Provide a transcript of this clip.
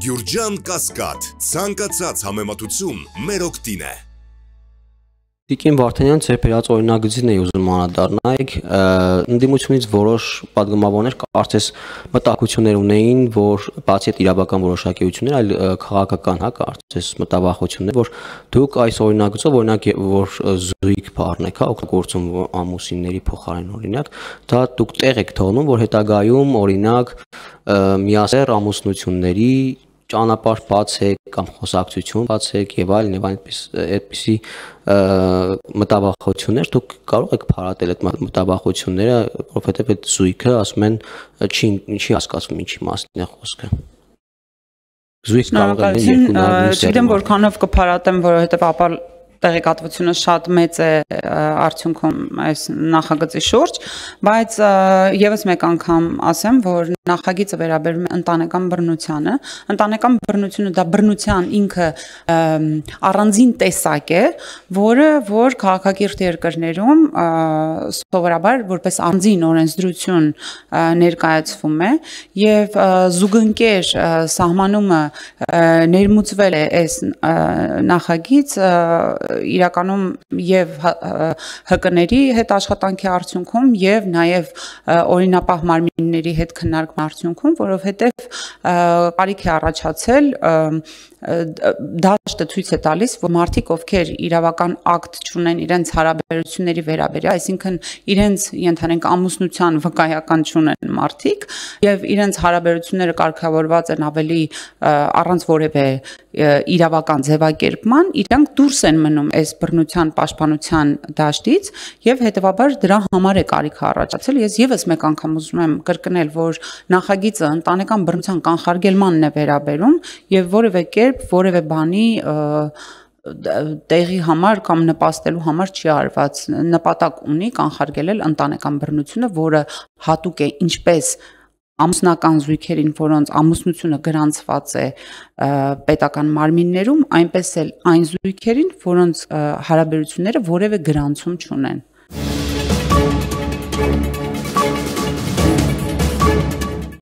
Գյուրջան Կասկադ, ցանկացած համեմատություն մեր օգտին է։ Տիկին Վարդանյան ձեր բերած օրինագծին էի ուզում անդրադառնալ, ընդդիմությունից որոշ падգամավորներ կարծես մտահոգություններ ունեին, որ բացի այդ իրավական որոշակիություններ, այլ քաղաքական, կարծես մտավախություններ, որ դուք այս օրինագծով օրինակ որ զույգ բառնեք, օգտագործում ամուսինների փոխարեն օրինակ, դա դուք տեղ եք թողնում, որ հետագայում օրինակ միասեռ ամուսնությունների ճանապարհ բացեք կամ խոսակցություն բացեք եւ այլն այդպիսի մտավախություններ դուք կարող եք փարատել այդ մտավախությունները, որովհետեւ այդ զույգը ասում են չի հասկացվում ինչի մասին է խոսքը։ Զույգ կարող է լինել երկու նույն Չգիտեմ որքանով կփարատեմ, որովհետեւ ապա տեղեկատվությունը շատ մեծ է արդյունքում այս նախագծի շուրջ, բայց եւս մեկ անգամ ասեմ, որ նախագիծը վերաբերում է ընտանեկան բռնությանը, ընտանեկան բռնությունը դա բռնության ինքը առանձին տեսակ է, որ քաղաքակիրթ երկրներում սովորաբար որպես առանձին օրենսդրություն ներկայացվում է եւ զուգընկեր սահմանումը ներմուծվել է այս նախագիծ իրականում եւ ՀԿ-ների հետ աշխատանքի արդյունքում եւ նաեւ օրինապահ մարմինների հետ քննարկման արդյունքում, որովհետեւ կարիք է առաջացել դաշտը ցույց է տալիս, որ մարդիկ, ովքեր իրավական ակտ չունեն իրենց հարաբերությունների վերաբերյալ, այսինքն իրենց ենթանենք ամուսնության վկայական չունեն մարդիկ եւ իրենց հարաբերությունները կարգավորված են ավելի առանց որևէ իրավական ձևակերպման, իրանք դուրս են մնում այս բռնության պաշտպանության դաշտից եւ հետեւաբար դրա համար է կարիքը առաջացել։ Ես եւս մեկ անգամ ուզում եմ կրկնել, որ նախագիծը ընտանեկան բռնության կանխարգելմանն է վերաբերում եւ որևէ կերպ որևէ բանի տեղի համար կամ նպաստելու համար չի արված, նպատակ ունի կանխարգելել ընտանեկան բռնությունը, որը հատուկ է ինչպես ամուսնական զույգերին, որոնց ամուսնությունը գրանցված է պետական մարմիններում, այնպես էլ այն զույգերին, որոնց հարաբերությունները որևէ գրանցում չունեն։